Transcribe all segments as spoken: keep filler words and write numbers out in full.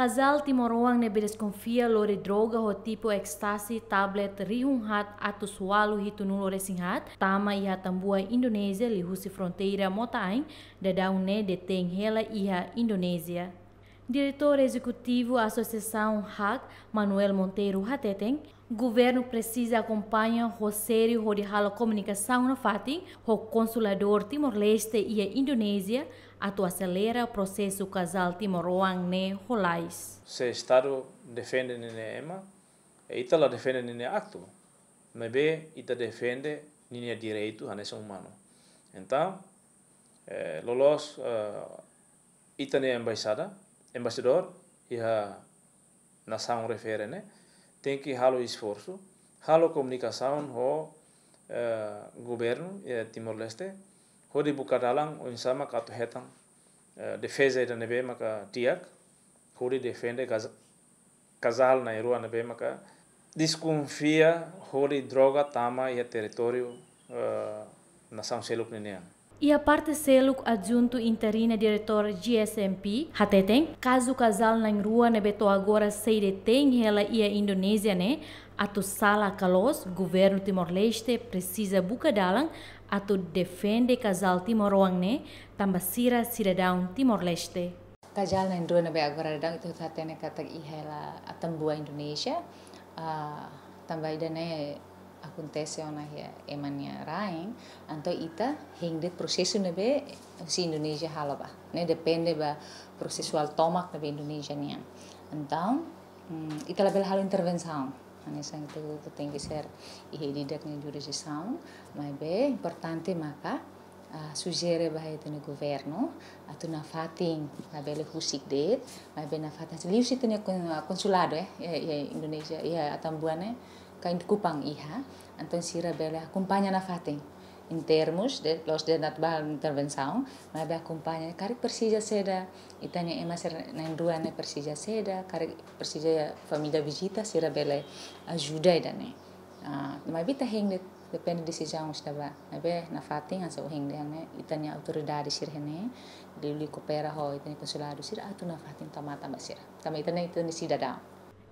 Kazál timoroan ne'ebé deskonfia lori droga ho tipu ekstasi tablet rihun haat atus ualu hitunulu resin haat tama iha Atambua, Indonézia, liuhusi fronteira mota-ain, daudaun ne'e detein hela iha Indonézia. Diretór Ezekutivu Asosiasaun HAK, Manuel Monteiro, hateten, governu presiza akompaña ho sériu hodi halo komunikasaun nafatin ho konsuladór Timor-Leste iha Indonézia atu aselera prosesu kazál timoroan ne'e ho lalais. Se Estadu defende ninia ema, e ita la defende ninia aktu, maibé ita defende ninia direitu hanesan umanu. Entaun, eh, loloos, eh, ita-nia embaixada, embaixadór iha nasaun refere ne'e tenke halo esforsu, halo komunikasaun ho, eh, governu iha Timor-Leste, hodi buka dalan oinsá maka atu hetan, eh, defeza ida ne'ebé maka di'ak, hodi defende kaz-, kazál na'in-rua ne'ebé maka deskonfia hodi droga tama iha territóriu, eh, nasaun seluk ninian. Iha parte seluk, adjuntu interina diretór GSMP hateten, kazu kazál na'in-rua ne'ebé to'o agora sei detein hela iha Indonézia ne'e, atu sala ka loos, governu Timor-Leste presiza buka dalan atu defende kazál timoroan ne'e, tanba sira sidadaun Timor-Leste. Kazál na'in-rua ne'ebé agora daudaun ita hatene katak iha hela Atambua, Indonézia. Ah, tanba ida-ne'e akontese ona iha ema nia rain, entaun ita hein de'it prosesu ne'ebé husi Indonézia halo ba. Ne'e depende ba prosesuál tomak ne'ebé Indonézia nian. Entaun, mm, ita labele halo intervensaun. Hanesan ita, ita tenke ser iha ida-idak nia jurisdisaun, maibé importante maka, ah, sujere ba ita-nia governu atu nafatin, labele husik de'it, maibé nafatin liuhusi ita-nia kon-, konsuladu, eh, iha, iha Indonézia, iha Atambua ne'e, kain Kupang iha, entaun sira bele akompaña nafatin. Em termos de, la'ós de'it atu ba intervensaun, maibé akompaña, karik presiza saida, ita-nia ema sira na'in-rua ne'e presiza saida, karik presiza família vizita, sira bele ajuda ida-ne'e. Ah, maibé ita hein de'it, depende desizaun sira ba. Maibé nafatin hanesan ohin dehan ne'e, ita-nia autoridade sira ne'e, liuliu koopera ho ita-nia konsuladu sira atu nafatin tau matan ba sira. Tanba ita ne'e ita-nia sidadaun.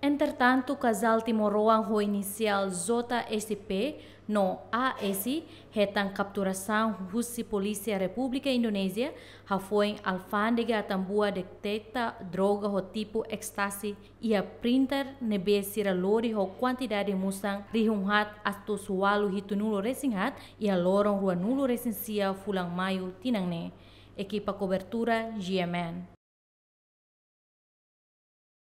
Entretantu, kazál timoroan ho inisiál J S P no A S hetan kapturasaun husi Polísia Repúblika Indonézia, hafoin alfándega Atambua deteta droga ho tipu ekstasi iha printer ne'ebé sira lori ho kuantidade musan rihun haat atus ualu hitunulu resin haat iha loron ruanulu resin sia fulan Maiu tinan ne'e. Ekipa kobertura GMN.